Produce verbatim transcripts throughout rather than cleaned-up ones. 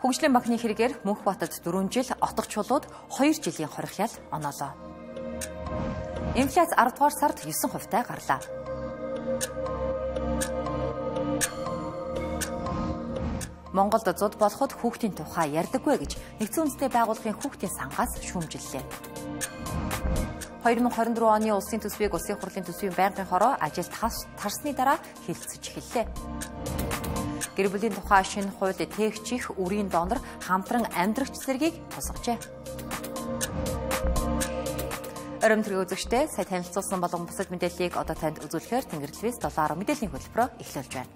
Хөгжлийн банкны хэрэгээр Мөнхбаатарт дөрвөн жил, Отго чулууд хоёр жилийн хорих ял оноолоо. Инфляц аравдугаар сард девять хувьтай гарлаа. Монголд зуд болоход хүүхдийн тухай ярьдаггүй гэж Нэгдсэн үндэсний байгууллагын хүүхдийн сангаас шүүмжиллээ. хоёр мың хорин дөрөв оны улсын төсвийг улсын хурлын төсвийн байнгын хороо ажилд тарсны дараа хэлэлцэж эхэллээ. Гэр бүлийн тухай шинэ хууль тээгчих үрийн донор хамтран амьдрагч зэргийг тусгажээ. Оройн төргийн үзэгчтэй сая танилцуулсан болон бусад мэдээллийг одоо танд үзүүлэхээр Тэнгэр телевиз доллар мэдээллийн хөтөлбөрөөр эхлүүлж байна.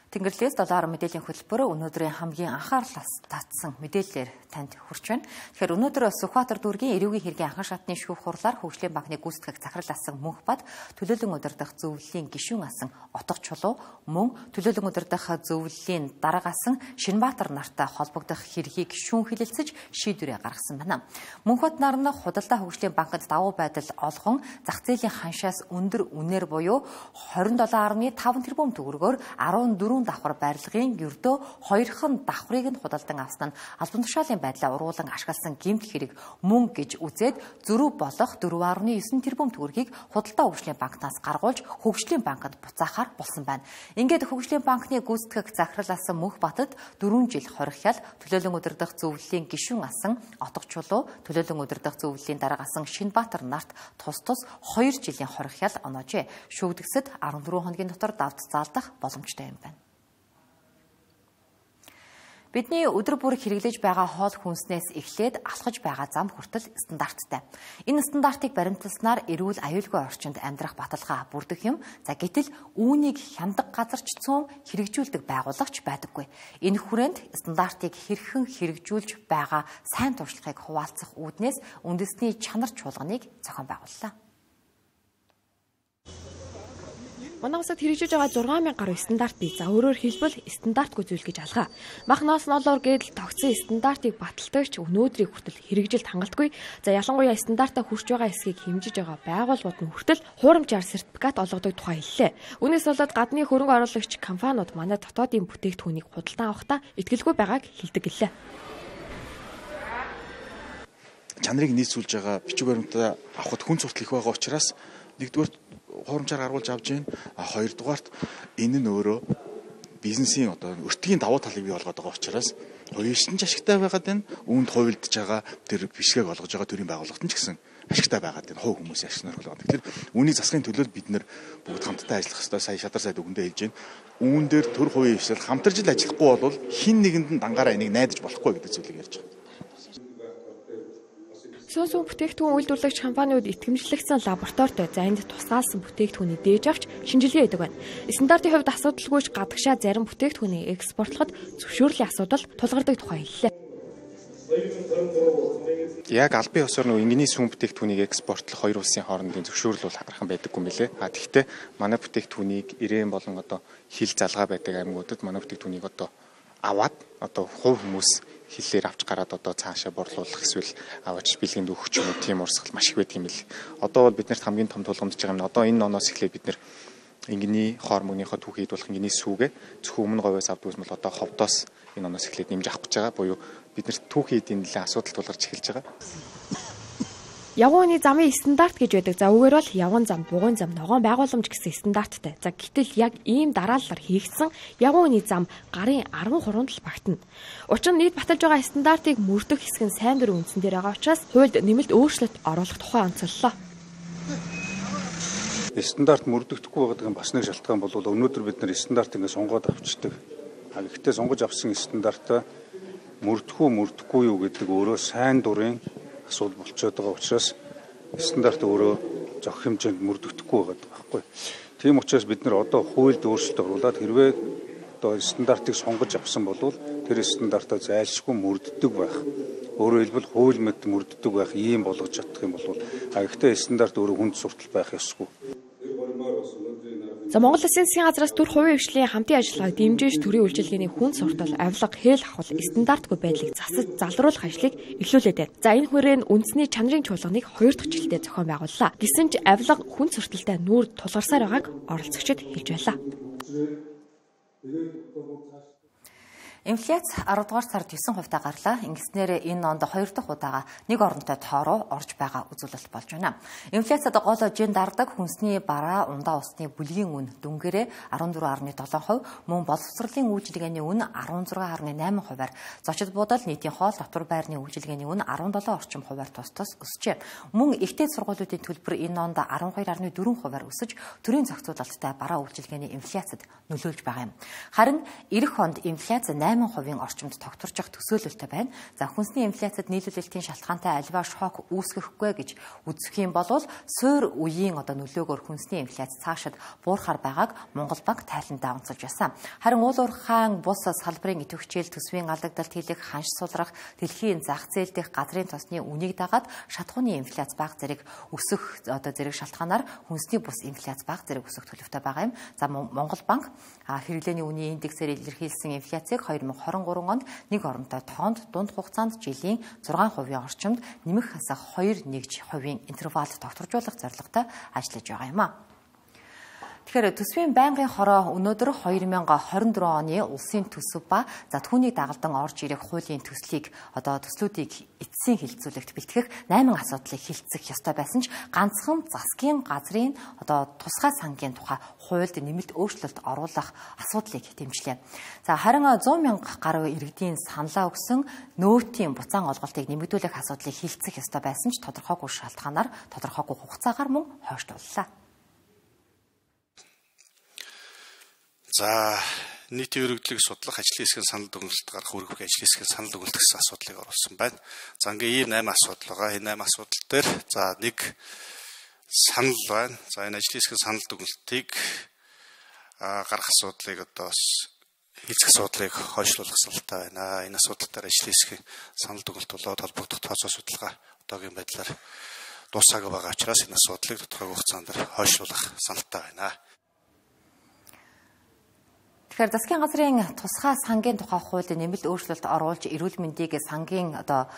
Тэнгэр телевиз доллар мэдээллийн хөтөлбөр өнөөдрийн хамгийн анхаарлаас татсан мэдээллээр танд хүрч байна. Тэгэхээр өнөөдөр Сүхбаатар дүүргийн эрүүгийн хэргийн анхан шатны шүүх хурлаар Хөгжлийн банкны гүйцэтгэх захирал асан Мөнхбат, төлөөлөн удирдах зөвлөлийн гишүүн асан Отго чулуу, мөн төлөөлөн удирдах зөвлөлийн дарга асан Шинбаатар нартай холбогдох хэргийг шүүн хэлэлцэж шийдвэрээ гаргасан байна. Мөнхбат нар нь худалдаа Хөгжлийн банкнд давуу байдал олгон зах зээлийн ханшаас өндөр үнээр буюу двадцать seven point five тэрбум төгрөгөөр fourteen давхар барилгын ердөө хоёрхан давхрыг нь худалдан авсан нь албан тушаалын байдлаа уруулан ашигласан гэмт хэрэг мөн гэж үзээд зөрүү болох four point nine тэрбум төгрөгийг худалдаа Хөгжлийн банкнаас гаргуулж Хөгжлийн банкнд буцаахаар болсон байна. Ингээд Хөгжлийн банкны гүйцэтгэх захирал асан Мөнхбатад дөрвөн жил хорих ял, төлөөлөн удирдах зөвлөлийн гишүүн асан Отго чулуу, төлөөлөн удирдах зөвлөлийн дарга асан Шинбаатар нарт тус тус хоёр жилийн хорих ял оноожээ. Шүүгдэгсэд fourteen хоногийн дотор давд заалдах боломжтой юм байна. Бидний өдөр бүр хэрэглэж байгаа хоол хүнснээс эхлээд алхаж байгаа зам хүртэл стандарттай. Энэ стандартыг баримталснаар эрүүл аюулгүй орчинд амьдрах баталгаа бүрдэх юм. За гэтэл үүнийг хяндаг газарч цөөн хэрэгжүүлдэг байгууллагч байдаггүй. Энэ хүрээнд стандартыг хэрхэн хэрэгжүүлж байгаа сайн туршлагыг хуваалцах үүднээс үндэсний чанар чуулганыг зохион байгууллаа. Манай улсад хэрэгжиж байгаа six thousand гаруй стандарт бий. За өөрөөр хэлбэл стандартгүй зүйл гэж алгаа. Махнаас нолоор гэдэл тогтсон стандартыг баталдагч өнөөдрийг хүртэл хэрэгжилт хангалтгүй. За ялангуяа стандартаа хүрч байгаа хэсгийг хэмжиж байгаа байгууллагууд нь хүртэл хуурамчаар сертификат олгодог тухай хэллээ. Үүнээс болоод гадны хөрөнгө оруулагч компаниуд манай дотоодын бүтээгдэхүүнийг худалдан авахдаа итгэлгүй байгааг хэлдэг гэлээ. Чанарыг нийцүүлж байгаа бичиг баримтаа авахд хүн суртал их байгаа учраас нэгдүгээр хуурамчаар гаргуулж авж байна. А хоёрдугаарт энэ нь өөрөө бизнесийн одоо өртгийн давуу талыг бий болгоод байгаа учраас хоёрын ч ашигтай байгаад байна. Үүнд хувилдж байгаа тэр бишгээг олгож байгаа төрийн байгууллагт нь ч гэсэн ашигтай байгаад байна. Хувь хүмүүсийн ашиг нөхөл байгаа. Тэгэхээр үүнийг засахын төлөө бид нэр бүгд хамтдаа ажиллах хэрэгтэй. Сая шадар сайд үгэндээ хэлж байна. Үүн дээр төр хувийн хвшил хамтарч л ажиллахгүй бол хин нэгэнд нь дангаараа энийг найдаж болохгүй гэдэг зүйлийг ярьж байгаа. Сүүн бүтээгдэхүүн үйлдвэрлэгч компаниуд итгэмжлэгдсэн лабораторид за энд тусгаалсан бүтээгдэхүүний дээж авч шинжилгээ хийдэг байна. Стандартын хувьд асуудалгүйч гадагшаа зарим бүтээгдэхүүнийг экспортлоход зөвшөөрлийн асуудал тулгардаг тухай хэллээ. Яг албан ёсоор нөө ингийн сүүн бүтээгдэхүүнийг экспортлох хоёр улсын хоорондын зөвшөөрөл бол хагархан байдаггүй мөлий. А тэгвэл манай бүтээгдэхүүнийг ирээн болон одоо хил залгаа байдаг аймагуудад манай бүтээгдэхүүнийг одоо аваад одоо хувь хүмүүс хиллээр авч гараад одоо цаашаа борлуулах эсвэл аваач бэлгэнд өгөх юм уу тийм урсгал маш их байдаг юм л. Одоо бол биднэрт хамгийн том тулгамдж байгаа юм. Одоо энэ оноос эхлээд бид нэр ингийн хоор мөнгөнийхөө түүхийд болох ингийн сүүгээ зөвхөн өмнө говьоос авдаг юм бол одоо ховдоос энэ оноос эхлээд нэмж авах гэж байгаа. Буюу биднэрт түүхийд энэ нэлээд асуудал тулгарч эхэлж байгаа. Явганы замын стандарт гэж байдаг. За үгээр бол явган зам, бугуун зам, ногоон байгууламж гэсэн стандарттай. За гэтэл яг ийм дараалалаар хийгдсэн явганы зам гарын thirteen л багтана. Учир нь нийт баталж байгаа стандартыг мөрдөх хэсэг нь сайн дурын үндсэн дээр байгаа учраас хуульд нэмэлт өөрчлөлт оруулах тухай онцоллоо. Стандарт мөрдөгдөхгүй байгаа бас нэг шалтгаан бол өнөөдөр бид нар стандарт ингэ сонгоод авчдаг. А гэхдээ сонгож авсан стандартаа мөрдөх үү мөрдөхгүй юу гэдэг өөрөө сайн дурын асуудал болчиход байгаа учраас стандарт өөрөө зохих хэмжээнд мөрдөгдөхгүй байгаа байхгүй. Тийм учраас бид нар одоо хуульд өөрчлөлт оруулаад хэрвээ одоо стандартыг сонгож авсан бол тэр стандартаа зайлшгүй мөрддөг байх. Өөрөөр хэлбэл хууль мэд мөрддөг байх ийм болгож чадах юм бол а гэхдээ стандарт өөрөө хүнд суртал байх ёсгүй. За Монгол Улсын засгийн газраас төр хувийн хвшлийн хамтын ажиллагааг дэмжиж төрийн үйлчилгээний хүн суртал, авилга, хээл авах стандартгүй байдлыг засаж залруулах ажлыг эхлүүлээд байна. За энэ хүрээнд үндэсний чанарын чуулганыг хоёр дахь жилдээ зохион байгууллаа. Гэсэн ч авилга хүн сурталтай нүүр тулгарсаар байгааг оролцогчид хэлж байлаа. Инфляц арав дугаар сард девять хувьтай гарлаа. Ингэснээр энэ онд хоёр дахь удаага нэг оронтой тоороо орж байгаа үзүүлэлт болж байна. Инфляцид гол жин дардаг хүнсний бараа, ундаа усны бүлгийн үн дүнгээрээ арван дөрвөн гаруй долоо хувь, мөн боловсролын үйлчилгээний үн арван зургаан гаруй найман хувиар, зочид буудал, нийтийн хоол, дотор байрны үйлчилгээний үн арван долоо орчим хувиар тус тус өсжээ. Мөн ихтэй сургуулиудын төлбөр энэ онд арван хоёр гаруй дөрвөн хувиар өсөж, төрийн зохицуулалттай бараа үйлчилгээний инфляцид нөлөөлж байгаа юм. Харин эх онд инфляц найман хувийн орчимд тогтворж явах төсөөлөлтэй байна. За хүнсний инфляцид нийлүүлэлтийн шалтгаантай альва шок үүсгэхгүй гэж үзэх юм бол суур үеийн одоо нөлөөгөөр хүнсний инфляц цаашид буурахаар байгааг Монгол банк тайландаа онцолж байсан. Харин уул уурхайн бус салбарын идэвхжээл, төсвийн алдагдалт хийлэх, ханш сулрах, дэлхийн зах зээл дэх газрын тосны үнийг дагаад шатхууны инфляц бага зэрэг өсөх одоо зэрэг шалтгаанаар хүнсний бус инфляц бага зэрэг өсөх төлөвтэй байгаа юм. За Монгол банк хэрэглээний үнийн индексээр илэрхийлсэн инфляцийг хоёр дахин двадцать три онд нэг оронтой тоонд дунд хугацаанд жилийн зургаан хувийн орчимд нэмэх хасах хоёр нэгж хувийн интервалд тогтворжуулах зорилготой ажиллаж байгаа юм а. Тэгэхээр төсвийн байнгын хороо өнөөдөр хоёр мянга хорин дөрвөн оны улсын төсөв ба за түүнийг дагалдан орж ирэх хуулийн төслийг одоо төслүүдийг эцсийн хилцүүлэгт бэлтгэх найман асуудлыг хилцэх ёстой байсан ч ганцхан засгийн газрын одоо тусгай сангийн тухай хуульд нэмэлт өөрчлөлт оруулах асуудлыг дэмжлээ. За харин зуун мянга гаруй иргэдийн саналаа өгсөн нөөтийн буцаан олголтыг нэмэгдүүлэх асуудлыг хилцэх ёстой байсан ч тодорхойгүй шалтгаанаар тодорхойгүй хугацаагаар мөн хойшлууллаа. За нийтийн өргөдлийг судлах, ажлын хэсгийн санал дүгнэлт гарах, өргөх ажлын хэсгийн санал дүгнэлт гэсэн асуудлыг оруулсан байна. За ингээм ийм найман асуудал байгаа. Энэ найман асуудал дээр за нэг санал байна. За энэ ажлын хэсгийн санал дүгнэлтийг гарах асуудлыг одоо хилцэх асуудлыг хойшлуулах саналтай байна. Энэ асуудал дээр ажлын хэсгийн санал дүгнэлт болоод холбогдох тооцоо судалгаа одоогийн байдлаар дуусаагүй байгаа учраас энэ асуудлыг тодорхой хугацаанд хойшлуулах саналтай байна. Тэгэхээр засгийн газрын тусгай сангийн тухай хуульд нэмэлт өөрчлөлт оруулж эрүүл мэндийг сангийн одоо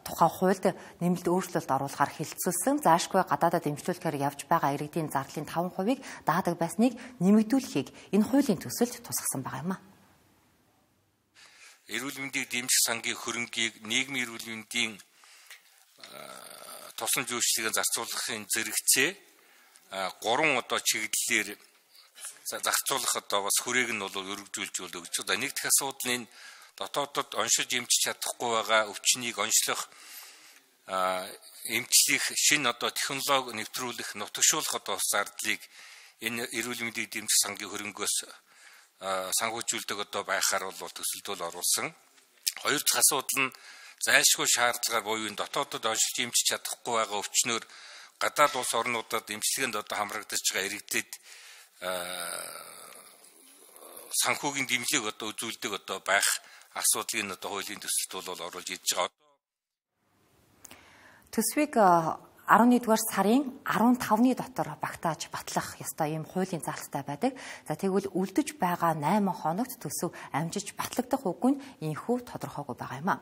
тухай хуульд нэмэлт өөрчлөлт оруулахар хилцүүлсэн. Заашгүй гадаадад эмчлүүлэхээр явж байгаа иргэдийн зардалын таван хувийг даадаг байсныг нэмэгдүүлэхийг энэ хуулийн төсөлд тусгасан байгаа юм а. Эрүүл мэндийг дэмжих сангийн хөрөнгийг нийгмийн эрүүл мэндийн тусламж үйлчлэгийг зарцуулахын зэрэгцээ гурван одоо чиглэлээр зарцуулах одоо бас хүрээг нь бол өргөжүүлж өгч байгаа. Нэг дэх асуудал нь дотоодод оншиж эмчиж чадахгүй байгаа өвчнийг онцлох эмчлэх шинэ одоо технологи нэвтрүүлэх, нутагшуулах одоо зардлыг энэ эрүүл мэндийн дэмжих сангийн хөрөнгөөс санхүүжүүлдэг одоо байхаар бол төсөлдөл оруулсан. Хоёр дахь асуудал нь зайлшгүй шаардлагаар буюу дотоодод оншиж эмчиж чадахгүй байгаа өвчнөөр гадаад улс орнуудад эмчилгээнд одоо хамрагдаж байгаа иргэдэд санхүүгийн дэмжлэг одоо үзүүлдэг одоо байх асуудлыг одоо хуулийн төсөлд бол оруулж ирж байгаа. Төсвийг арван нэгдүгээр сарын арван тавны дотор багтааж батлах ёстой ийм хуулийн заалттай байдаг. За тэгвэл үлдэж байгаа найман хоногт төсөв амжиж батлагдах үгүй нь ийхүү тодорхойгүй байгаа юм а.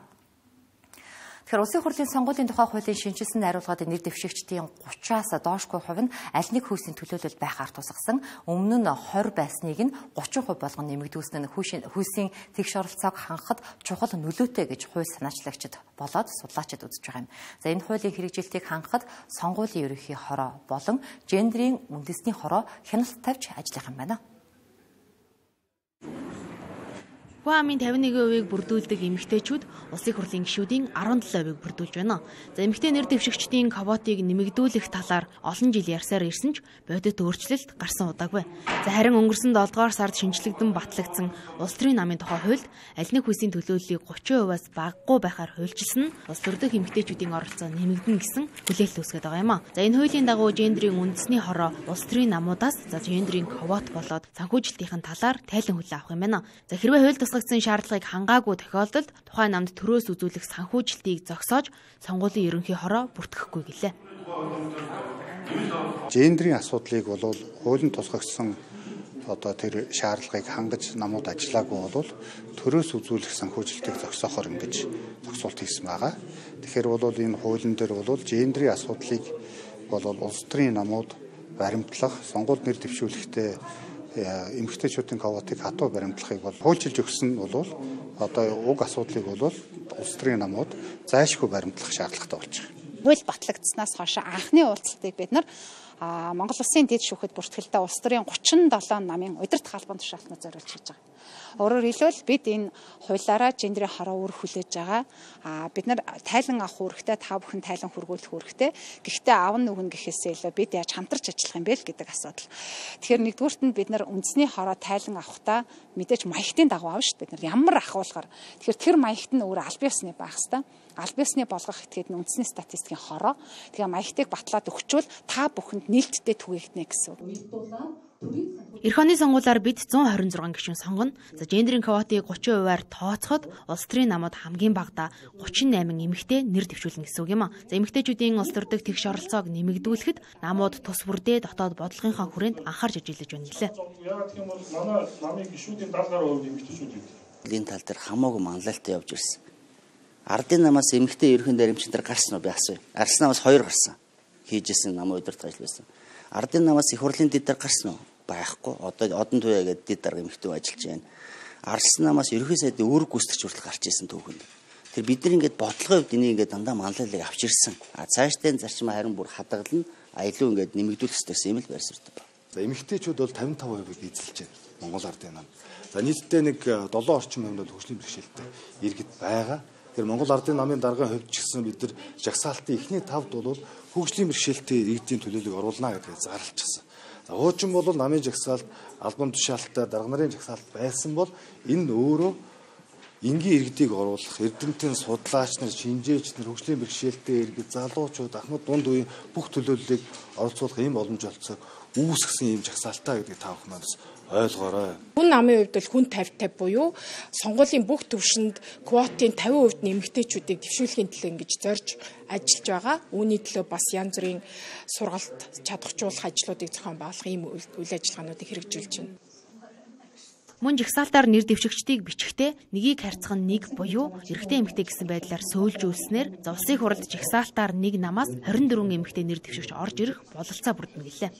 Тэгэхээр улсын хурлын сонгуулийн тухай хуулийн шинжилсэн найруулгад нэр дэвшигчдийн гураваас доошгүй хувь нь аль нэг хүйсийн төлөөлөл байхаар тусгасан. Өмнө нь двадцать байсныг нь тридцать процент болгон нэмэгдүүлсэн нь хүйсийн тэгш оролцоог хангахад чухал нөлөөтэй гэж хууль санаачлагчид болоод судлаачид үзэж байгаа юм. За энэ хуулийн хэрэгжилтийг хангахад сонгуулийн ерөнхий хороо болон гендрийн үндэсний хороо хяналт тавьж ажиллах юм байна. Хуамын тавин нэгэн хувийг бүрдүүлдэг эмэгтэйчүүд улсын хурлын гишүүдийн арван долоо хувийг бүрдүүлж байна. За эмэгтэй нэр дэвшигчдийн квотыг нэмэгдүүлэх талаар олон жил ярьсаар ирсэн ч бодит өөрчлөлт гарсан удаагүй. За харин өнгөрсөн долоо дугаар сард шинжлэгдэн батлагдсан улс төрийн намын тухай хуульд аль нэг хүйсийн төлөөллийг тридцать процент-аас багагүй байхаар хуульчилсан нь улс төрдөх эмэгтэйчүүдийн оролцоо нэмэгдэн гэсэн хүлээлт үүсгэж байгаа юм а. За энэ хуулийн дагуу гендрийн үндэсний хороо улс төрийн намуудаас за гендрийн квот болоод санхүүжилтийн талаар тайлан хүлээн авах юм байна. За хэрвээ хууль тусгагдсан шаардлагыг хангаагүй тохиолдолд тухайн намд төрөөс үзүүлэх санхүүжилтийг зогсоож сонгуулийн ерөнхий хороо бүртгэхгүй гэлээ. Гендрийн асуудлыг бол хуулийн тусгагдсан одоо тэр шаардлагыг хангаж намууд ажиллаагүй бол төрөөс үзүүлэх санхүүжилтийг зогсоохоор ингэж зогсуулт хийсэн байгаа. Тэгэхээр бол энэ хуулийн дээр бол гендрийн асуудлыг бол улс төрийн намууд баримтлах, сонгуульд нэр дэвшүүлэхдээ эмэгтэйчүүдийн квотыг хатуу баримтлахыг бол хуульчилж өгсөн нь бол одоо уг асуудлыг бол улс төрийн намууд зайлшгүй баримтлах шаардлагатай болж байгаа. Хууль батлагдсанаас хойш анхны уулзалтыг бид нар Монгол Улсын дэд шүүхэд бүртгэлтэй улс төрийн гучин долоо намын удирдах албан тушаалтнууд зориулж хийж байгаа. Өөрөөр хэлбэл бид энэ хуулиараа гендрийн хороо үр хүлээж байгаа. А бид нар тайлан авах үүрэгтэй, та бүхэн тайлан хүргүүлэх үүрэгтэй. Гэхдээ аав нүхэн гэхээсээ илүү бид яаж хамтарч ажиллах юм бэ гэдэг асуудал. Тэгэхээр нэгдүгüүрт нь бид нар үндэсний хороо тайлан авахдаа мэдээж маягтын дагуу авна шүү дээ. Бид нар ямар ахуулгаар. Тэгэхээр тэр маягт нь өөр аль биесны байх хэвээр. Аль биесны болгох этгээд үндэсний статистикийн хороо. Тэгээ маягтыг батлаад өгчвөл та бүхэнд нээлттэй түгээгдэнэ гэсэн. Эх оны сонгуулиар бид зуун хорин зургаан гишүүн сонгоно. За гендрийн квотыг гучин хувиар тооцоход улс төрийн намууд хамгийн багадаа гучин восемь эмэгтэй нэр дэвшүүлнэ гэсэн үг юм а. За эмэгтэйчүүдийн улс төрдөх тэгш оролцоог нэмэгдүүлэхэд намууд тус бүрдээ дотоод бодлогынхаа хүрээнд анхаарч ажиллаж байна гэлээ. Яагаад гэх юм бол манай намын гишүүдийн даалгавар хувь эмэгтэйчүүд бид. Энэ тал дээр хамаагүй манлайлалтай явж ирсэн. Ардын намаас эмэгтэй ерхэн даримчдэр гарсан уу би асууя. Ардын намаас хоёр гарсан. Хийжсэн нам удирдах ажил байсан. Ардын намаас их хурлын дэд дээр гарсан уу? Байхгүй. Одоо одон туяа гэдэг дэд дарга эмэгтэй ажиллаж байна. Ардын намаас ерхий сайдын үүрэг гүйцэтгэж хүртэл гарч ирсэн түүхэнд. Тэр бид нар ингээд бодлогын хувьд энийг ингээд дандаа манлайлалыг авч ирсэн. А цаашдаа зарчим харин бүр хадгална. Аялуу ингээд нэмэгдүүлэх хэрэгтэй юм л байр суурьтай байна. За эмэгтэйчүүд бол пятьдесят пять процент эзэлж байна. Монгол ардын нам. За нийтдээ нэг seven орчим хувь бол хөгжлийн бэрхшээлтэй иргэд байгаа. Тэр Монгол ардын намын даргын хувьд ч гэсэн бид нар жагсаалтын эхний тавд бол хөгжлийн бэрхшээлтэй иргэдийн төлөөллийг оруулна гэдгийг зарлчихсан. За хуучин бол намын жагсаалт, албан тушаалттай дарга нарын жагсаалт байсан бол энэ өөрөө энгийн иргэдийг оруулах, эрдэмтэн судлаач нар, шинжээч нар, хөгжлийн бэрхшээлтэй иргэд, залуучууд, ахмад дунд үеийн бүх төлөөллийг оролцуулах ийм боломж олцоог үүсгэсэн ийм жагсаалтаа гэдгийг та бүхэн манаас ойлгоорой. Хүн намын хувьд бол хүн пятьдесят пятьдесят буюу сонгуулийн бүх төвшөнд квотын fifty percent нэмэгтэйчүүдийг дэвшүүлэхийн төлөө ингэж зорж ажиллаж байгаа. Үүний төлөө бас янз бүрийн сургалт чадахжуулах ажлуудыг зохион байгуулах ийм үйл ажиллагаануудыг хэрэгжүүлж байна. Мөн жагсаалтаар нэр дэвшигчдийг бичихдээ нэгийг харьцах нь нэг буюу эрэгтэй эмэгтэй гэсэн байдлаар сөүлжүүлснээр за улсын хурлд жагсаалтаар нэг намаас twenty-four эмэгтэй нэр дэвшигч орж ирэх бололцоо бүрдэнэ гэлээ.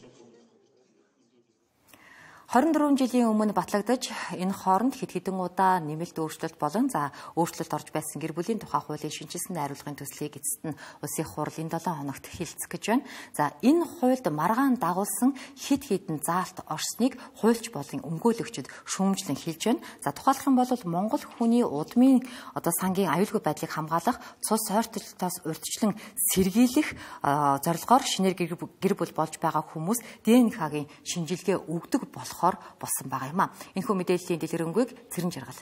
twenty-four жилийн өмнө батлагдаж энэ хооронд хэд хэдэн удаа нэмэлт өөрчлөлт болон за өөрчлөлт орж байсан гэр бүлийн тухай хуулийн шинжилсэн найруулгын төслийг эцэст нь улсын хурал энэ seven хоногт хэлцэх гэж байна. За энэ хуульд маргаан дагуулсан хэд хэдэн заалт орсныг хуульч болон өмгөөлөгчд шүүмжлэн хэлж байна. За тухайлах юм бол Монгол хүний удмын одоо сангийн аюулгүй байдлыг хамгаалах, цус ойртолтоос урьдчилан сэргийлэх зорилгоор шинээр гэр бүл болж байгаа хүмүүс ди эн ха-гийн шинжилгээ өгдөг болох болсон байгаа юм а. Энэхүү мэдээллийн дэлгэрэнгүй Цэрэн Жаргал.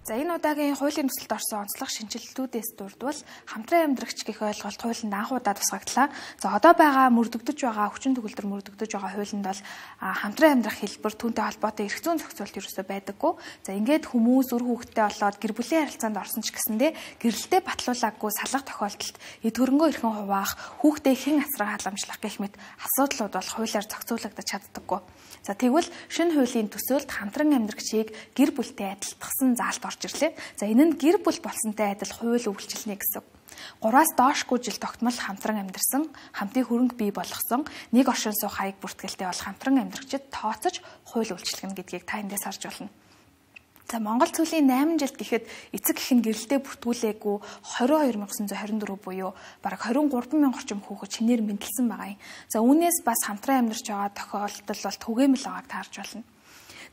За энэ удаагийн хуулийн төсөлд орсон онцлог шинжилтүүдээс дурдвал хамтран амьдрагч гэх ойлголт хуулинд анх удаа тусгагдлаа. За одоо байгаа мөрдөгдөж байгаа хүчин төгөлдөр мөрдөгдөж байгаа хуулинд бол хамтран амьдрах хэлбэр түүнтэй холбоотой эрх зүйн зохицуулт ерөөсөө байдаггүй. За ингээд хүмүүс үр хүүхэдтэй болоод гэр бүлийн харилцаанд орсон ч гэсэндээ гэрэлтэй батлуулаагүй салгах тохиолдолд эд хөрөнгөө эрхэн хуваах, хүүхдээ хэн асран халамжлах гэх мэт асуудлууд бол хуулиар зохицуулагдаж чаддаггүй. За тэгвэл шинэ хуулийн төсөөлд хамтран амьдрагчийг гэр бүлтэй адилтгсан заалт орж ирлээ. За энэ нь гэр бүл болсонтой адил хууль үйлчилнэ гэсэн. Гураас доошгүй жил тогтмол хамтран амьдарсан, хамтын хөрөнгө бий болгосон, нэг оршин суух хаяг бүртгэлтэй бол хамтран амьдрагчид тооцож хууль үйлчлэгнэ гэдгийг та эндээс харж байна. За Монгол цөлийн eight жилд гэхэд эцэг эх нь гэрэлтэй бүртгүүлээгүй twenty-two thousand nine hundred twenty-four буюу бараг twenty-three thousand орчим хүүхэд шинээр мэдлсэн байгаа юм. За үүнээс бас хамтран амьдарч байгаа тохиолдол бол түгээмэл байгааг таарж байна.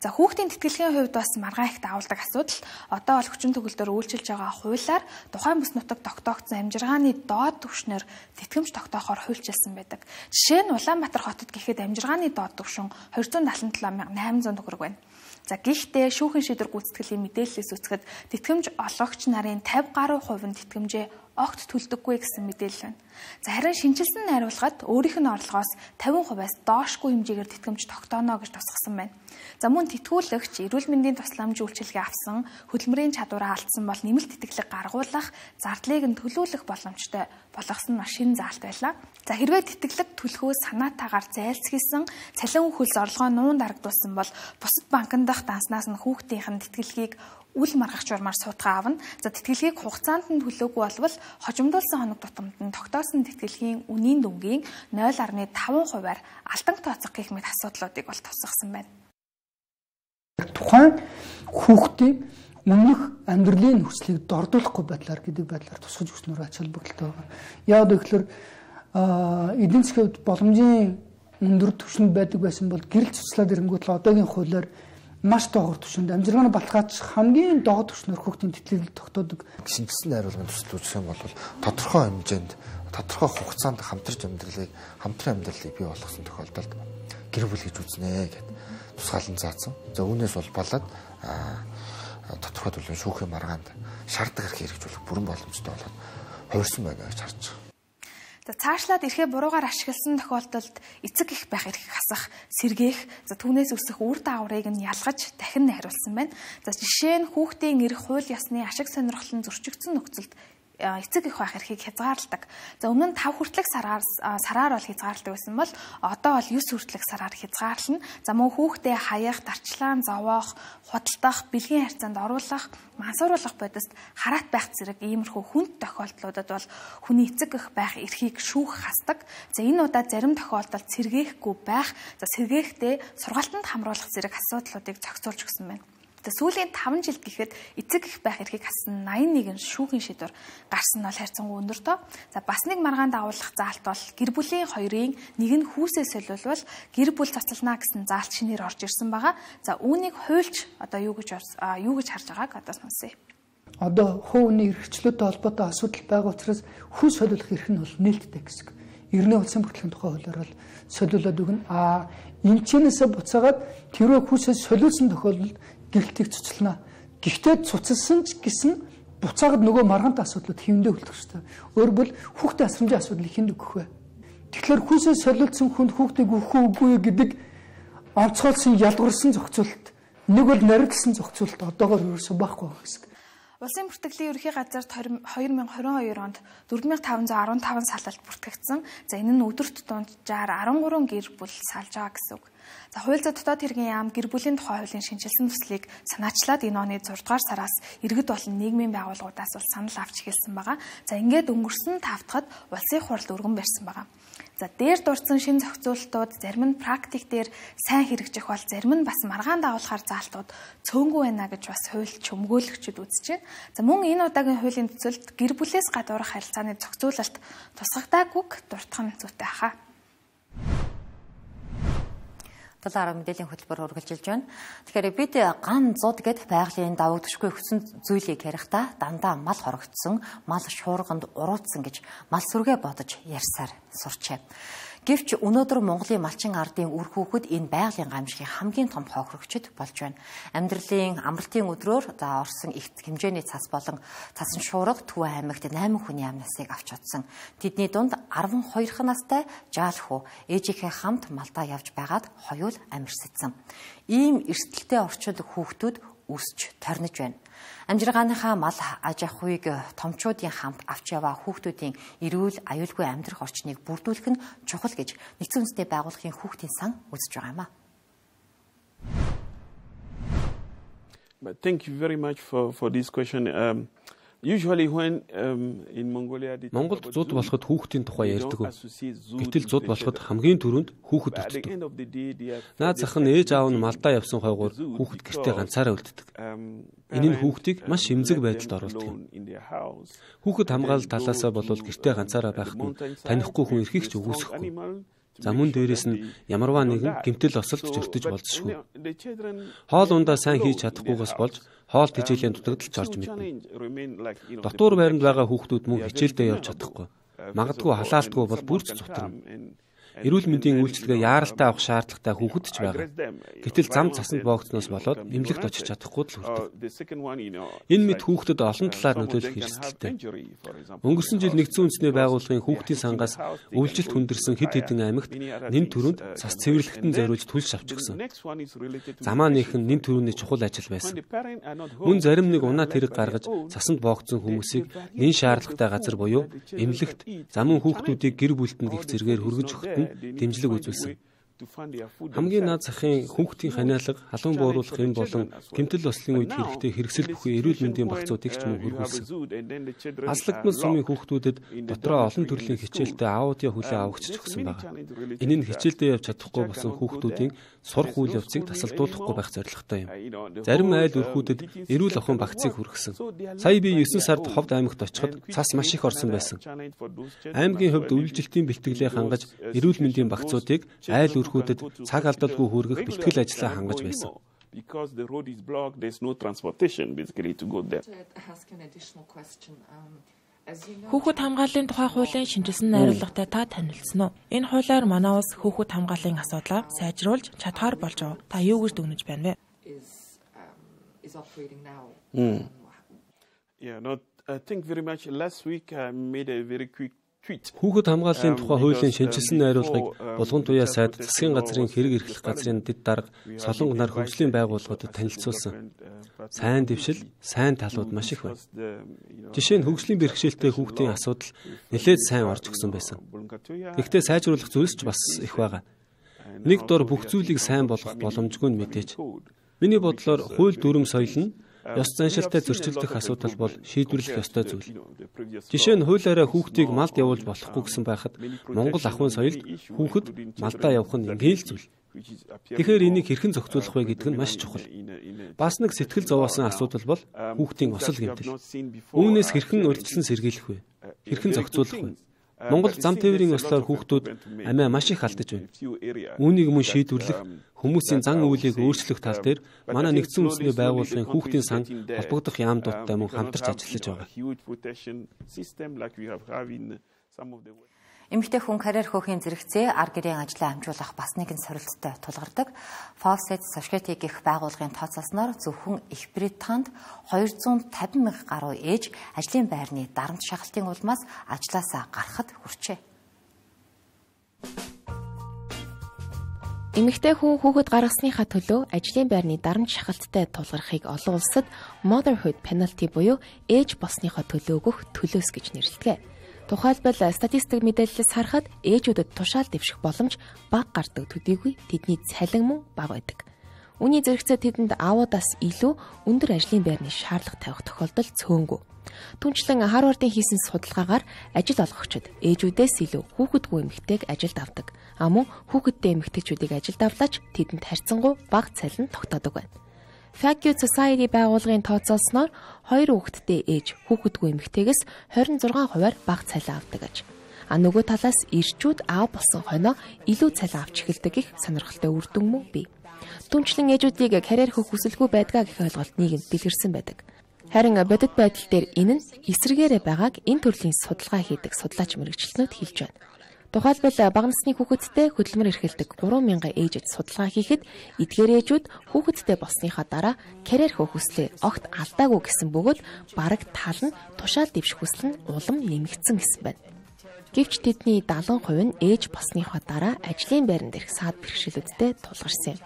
За хүүхдийн тэтгэлгийн хувьд бас маргаан их давуулдаг асуудал. Одоо бол хүчин төгөлдөр үйлчилж байгаа хуулиар тухайн бүс нутаг тогтоогдсон амжиргааны доод түвшнээр тэтгэмж тогтоохоор хуульчилсан байдаг. Жишээ нь Улаанбаатар хотод гэхэд амжиргааны доод түвшин two hundred seventy-seven thousand eight hundred төгрөг байна. За гэхдээ шүүхэн шийдвэр гүйцэтгэлийн мэдээлэлээс үзэхэд тэтгэмж олгогч нарын fifty гаруй хувь нь тэтгэмжээ огт төлдөггүй гэсэн мэдээлэл байна. За харин шинжилсэн найруулгад өөрийнх нь орлогоос тавин хувиас доошгүй хэмжээгээр тэтгэмж тогтооно гэж тусгасан байна. За мөн тэтгүүлэгч эрүүл мэндийн тусламж үйлчилгээ авсан, хөдөлмөрийн чадвараа алдсан бол нэмэлт тэтгэлэг гаргуулах, зардлыг нь төлөвлөх боломжтой болгосон нь шинэ заалт байлаа. За хэрвээ тэтгэлэг төлөхөөс санаатаагаар зайлсхийсэн, цалин хөлс орлогоо нуун дарагдуулсан бол бусад банкнд дах данснаас нь хүүхдийнх нь тэтгэлгийг үл маргах журмаар суудгаа авна. За тэтгэлгийг хугацаанд нь төлөөгүй болвол хожимдуулсан хоног тутамд нь тогтоосон тэтгэлгийн үнийн дүнгийн нуль фаصله таван хувиар алдан тооцох гэх мэт асуудлуудыг бол тусгасан байна. Тухайн хүүхдийн өмнөх амьдралын нөхцөлийг дордуулахгүй байдлаар гэдэг байдлаар тусгаж өгснөөр ач холбогдолтой байгаа. Яг тэгэхээр эдийн засгийн хувьд боломжийн өндөр түвшинд байдаг байсан бол гэрэл цуцлаад ирэнгүүт л одоогийн хуулиар маш доогуур түвшинд амжиргааны баталгаач хамгийн доод түвшнээр хүүхдийн тэтгэлэг тогтоодог. Шинжилсэн найруулганд төсөл үзэх юм бол тодорхой хэмжээнд тодорхой хугацаанд хамтарч амьдралыг хамтран амьдралыг бий болгосон тохиолдолд гэр бүл гэж үзнэ гэдэг тусгаалan заасан. За үүнээс бол болоод тодорхой төлөв шүүхийн маргаанд шаарддаг хэрэг хэрэгжүүлэх бүрэн боломжтой болоод хувирсан байна гэж харж байгаа. За цаашлаад ирэхээ буруугаар ашигласан тохиолдолд эцэг их байх эрхийг хасах, сэргээх, за түүнээс үсэх үр дагаврыг нь ялгаж дахин найруулсан байна. За жишээ нь хүүхдийн эрх хууль ёсны ашиг сонирхлон зөрчигдсөн нөхцөлд эцэг их байх эрхийг хязгаарладаг. За өмнө нь тав хүртэлх сараар сараар бол хязгаарладаг байсан бол одоо бол девять хүртэлх сараар хязгаарлана. За мөн хүүхдээ хаях, дарчлаан зовоох, худалдах, бэлгийн харьцаанд оруулах, мансууруулах бодист хараат байх зэрэг иймэрхүү хүнд тохиолдлуудад бол хүний эцэг их байх эрхийг шүүх хасдаг. За энэ удаа зарим тохиолдолд сэргээхгүй байх, за сэргээхдээ сургалтанд хамруулах зэрэг асуудлуудыг зохицуулж өгсөн байна. Сүүлийн таван жилд гэхэд эцэг их байх эрхийг хассан найман нэгэн шүүхийн шийдвэр гарсан нь бол хайрцангуй өндөртөө. За бас нэг маргаанд агуулах заалт бол гэр бүлийн хоёрын нэг нь хүүсээ солиулвал гэр бүл цацална гэсэн заалт шинээр орж ирсэн байгаа. За үүнийг хуульч одоо юу гэж юу гэж харж байгааг одоо сонсъё. Одоо хувийн эрхчлөөтэй холбоотой асуудал байгаа учраас хүү солиулах эрх нь бол нээлттэй гэсэн. Эрдэнэ улсын бүртгэлийн тухай хуулиар бол солиулаад өгнө. А эмчнээсээ буцаагаад тэрөө хүүсээ солиулсан тохиолдолд гэрэлтийг цуцлана. Гэхдээ цуцалсан ч гэсэн буцаагаад нөгөө маргаантай асуудлууд хэвэндээ үлдэх ёстой. Өөрөөр хэлбэл хүүхдийн асрамжийн асуудал ихэнд өгөх вэ? Тэгэхээр хүүсээ солиулсан хүнд хүүхдийг өгөх үгүй гэдэг онцгойлсон ялгуурсан зохицуулалт нэг бол нарийнсан зохицуулалт одоогоор ерөөсөө байхгүй байх гэсэн. Улсын бүртгэлийн ерөнхий газарт хоёр мянга хорин хоёр онд дөрвөн мянга таван зуун арван таван салалт бүртгэгдсэн. За энэ нь өдөрт дунджаар арван гурван гэр бүл салж байгаа гэсэн үг. За хууль зүйн дотоод хэргийн яам гэр бүлийн тухай хуулийн шинжилсэн төслийг санаачлаад энэ оны зургаадугаар сараас иргэд болон нийгмийн байгууллагуудаас бол санал авч эхэлсэн байгаа. За ингээд өнгөрсөн тавтахад улсын хуралд өргөн барьсан байгаа. За дээр дурдсан шинэ зохицуулалтууд зарим нь практик дээр сайн хэрэгжих бол зарим нь бас маргаан дагуулахаар заалтууд цөөнгүй байна гэж бас хуульч өмгөөлөгчд үзэж байна. За мөн энэ удаагийн хуулийн төсөлд гэр бүлээс гадуурх харилцааны зохицуулалт тусгагдаагүйг дуртах нь зүйтэй хаа. Талаар мэдээллийн хөтөлбөр үргэлжилж байна. Тэгэхээр бид ган зуд гэд байгалийн давуу төшгүй өгсөн зүйлийг ярихдаа дандаа мал хорогдсон, мал шуурганд уруутсан гэж мал сүргээ бодож ярьсаар сурчээ. Гэвч өнөөдөр Монголын малчин ардын үр хүүхэд энэ байгалийн гамшигын хамгийн том хохирогчд болж байна. Амьдралын амралтын өдрөөр за орсон их хэмжээний цас болон цасан шуурга Төв аймагт найман хүний амнасыг авч удсан. Тэдний дунд арван хоёр настай жаалхуу ээжийнхээ хамт малдаа явж байгаад хоёул амьсгдсан. Ийм эрсдэлтэй орчинд хүүхдүүд өсч торнож байна. Амжиргааныхаа мал аж ахуйг томчуудын хамт авч яваа хүүхдүүдийн эрүүл аюулгүй амьдрах орчныг бүрдүүлэх нь чухал гэж Нэгдсэн үндэсний байгууллагын хүүхдийн сан үзэж байгаа юм а. But thank you very much for for this question. Um, usually when um, in Mongolia Монголд зуд болоход хүүхдийн тухай ярьдаг. Гэтэл зуд болоход хамгийн түрүүнд хүүхэд үлддэг. Наад зах нь ээж аав нь малдаа явсан хойгоор хүүхэд гэртээ ганцаараа үлддэг. Энэ нь хүүхдийг маш эмзэг байдалд оруулдаг юм. Хүүхэд хамгаалал талаасаа болвол гэртээ ганцаараа байхгүй, танихгүй хүн эрхийг ч үгүйсэхгүй. За мөн дээрээс нь ямарваа нэгэн гэмтэл осолд зөртөж болзошгүй. Хоол ундаа сайн хийж чадахгүйгээс болж хоол тэжээлийн дутагдалж орж мэднэ. Дотуур байранд байгаа хүүхдүүд мөн хичээлдээ явж чадахгүй. Магадгүй халаалтгүй бол бүрч зутарна. эрүүл мэндийн үйлчилгээ яаралтай авах шаардлагатай хүүхэд ч байгаа. Гэтэл зам цасанд боогдсноос болоод эмнэлэгт очиж чадахгүй л хүрдэг. Энэ мэд хүүхдэд олон талаар нөлөөлөх эрсдэлтэй. Өнгөрсөн жил нэгдсэн үндэсний байгууллагын хүүхдийн сангаас өвлжилт хүндэрсэн хэд хэдэн аймагт нэн төрөнд цас цэвэрлэгтэн зориулж түлш авчихсан. Замаа нээхэн нэн төрөний чухал ажил байсан. Мөн зарим нэг унаа тэрэг гаргаж цасанд боогдсон хүмүүсийг нэн шаардлагатай газар буюу эмнэлэгт замун хүүхдүүдийг гэр бүлтэнд гих зэргээр хүргэж өгөхөд нь дэмжлэг үзүүлсэн. Хамгийн наад захын хүүхдийн ханиалга, халуун бууруулах юм болон гэмтэл ослын үед хэрэгтэй хэрэгсэл бүхий эрүүл мэндийн багцуудыг ч мөн хөргүүлсэн. Аслагдмал сумын хүүхдүүдэд дотроо олон төрлийн хичээлтэй аудио хүлээ авахч өгсөн байна. Энэ нь хичээлдээ явж чадахгүй болсон хүүхдүүдийн сурах үйл явцыг тасалдуулахгүй байх зорилготой юм. Зарим айл өрхүүдэд эрүүл ахуйн багцыг хүргэсэн. Сая би есөн сард Ховд аймагт очиход цас маш их орсон байсан. Аймгийн хувьд өвлжилтийн бэлтгэлээ хангаж эрүүл мэндийн багцуудыг айл өрхүүдэд цаг алдалгүй хүргэх бэлтгэл ажлаа хангаж байсан. Because the road is blocked, there's no transportation basically to go there. Хүүхэд хамгааллын тухай хуулийн шинжилсэн найруулгатай та танилцсан уу? Энэ хуулиар манай улс хүүхэд хамгааллын асуудлаа сайжруулж чадхаар болж байгаа. Та юу гэж дүгнэж байна вэ? Mm. Yeah, no, I think very much last week I made a very quick Хүүхэд хамгааллын тухай хуулийн шинжилсэн найруулгыг Булган туяа сайд засгийн газрын хэрэг эрхлэх газрын дэд дарга Солонго нар хөгжлийн байгууллагуудад танилцуулсан. Сайн дэвшил, сайн талууд маш их байна. Жишээ нь хөгжлийн бэрхшээлтэй хүүхдийн асуудал нэлээд сайн орж өгсөн байсан. Гэхдээ сайжруулах зүйлс ч бас их байгаа. Нэг дор бүх зүйлийг сайн болгох боломжгүй нь мэдээж. Миний бодлоор хууль дүрм соёл нь ёс заншилтай зөрчилдөх асуудал бол шийдвэрлэх ёстой зүйл. Жишээ нь хуулиараа хүүхдийг малд явуулж болохгүй гэсэн байхад Монгол ахуйн соёлд хүүхэд малдаа явах нь ингээл зүйл. Тэгэхээр энийг хэрхэн зохицуулах вэ гэдэг нь маш чухал. Бас нэг сэтгэл зовоосон асуудал бол хүүхдийн осол гэмтэл. Үүнээс хэрхэн урьдчилан сэргийлэх вэ? Хэрхэн зохицуулах вэ? Монгол зам тээврийн ослоор хүүхдүүд амиа маш их алдаж байна. Үүнийг мөн шийдвэрлэх, хүмүүсийн зан үйлийг өөрчлөх тал дээр манай нэгдсэн үндэсний байгууллагын хүүхдийн сан холбогдох яамдуудтай мөн хамтарч ажиллаж байгаа. Эмэгтэй хүн карьер хөөхийн зэрэгцээ ар гэрийн ажлаа амжуулах бас нэгэн сорилттой тулгардаг. Fawcett Society гэх байгууллагын тооцоолсноор зөвхөн Их Британд хоёр зуун тавин мянган гаруй ээж ажлын байрны дарамт шахалтын улмаас ажлаасаа гарахад хүрчээ. Эмэгтэй хүн хүүхэд гаргасныхаа төлөө ажлын байрны дарамт шахалттай тулгархыг олон улсад motherhood penalty буюу ээж болсныхоо төлөө өгөх төлөөс гэж нэрлэдэг. Тухайлбал статистик мэдээллээс харахад ээжүүдэд тушаал дэвших боломж бага гардаг төдийгүй тэдний цалин мөн бага байдаг. Үүний зэрэгцээ тэдэнд аавуудаас илүү өндөр ажлын байрны шаардлага тавих тохиолдол цөөнгүй. Түүнчлэн Харвардын хийсэн судалгаагаар ажил олгогчид ээжүүдээс илүү хүүхэдгүй эмэгтэйг ажилд авдаг. А мөн хүүхэдтэй эмэгтэйчүүдийг ажилд авлаач тэдэнд харьцангуй бага цалин тогтоодог байна. Fawcett Society байгууллагын тооцоолсноор хоёр хүүхэдтэй ээж хүүхэдгүй эмэгтэйгээс хорин зургаан хувиар бага цалин авдаг аж. А нөгөө талаас ирчүүд аав болсон хойноо илүү цалин авч эхэлдэг гэх сонирхолтой үр дүн мөн бий. Түүнчлэн ээжүүдийг карьер хөх хүсэлгүй байдгаа гэх ойлголт нийгэмд дэлгэрсэн байдаг. Харин бодит байдал дээр энэ нь эсрэгээрээ байгааг энэ төрлийн судалгаа хийдэг судлаач мэрэгчлэнүүд хэлж байна. Тухайлбал бага насны хүүхэдтэй хөдөлмөр эрхэлдэг гурван мянган ээжэд судалгаа хийхэд эдгээр ээжүүд хүүхэдтэй болсныхаа дараа карьер хөх хүслээ огт алдаагүй гэсэн бөгөөд бараг тал нь тушаал дэвших хүсэл нь улам нэмэгдсэн гэсэн байна. Гэвч тэдний дагалан хувь нь ээж болсныхаа дараа ажлын байранд ирэх саад бэрхшээлүүдтэй тулгарсан юм.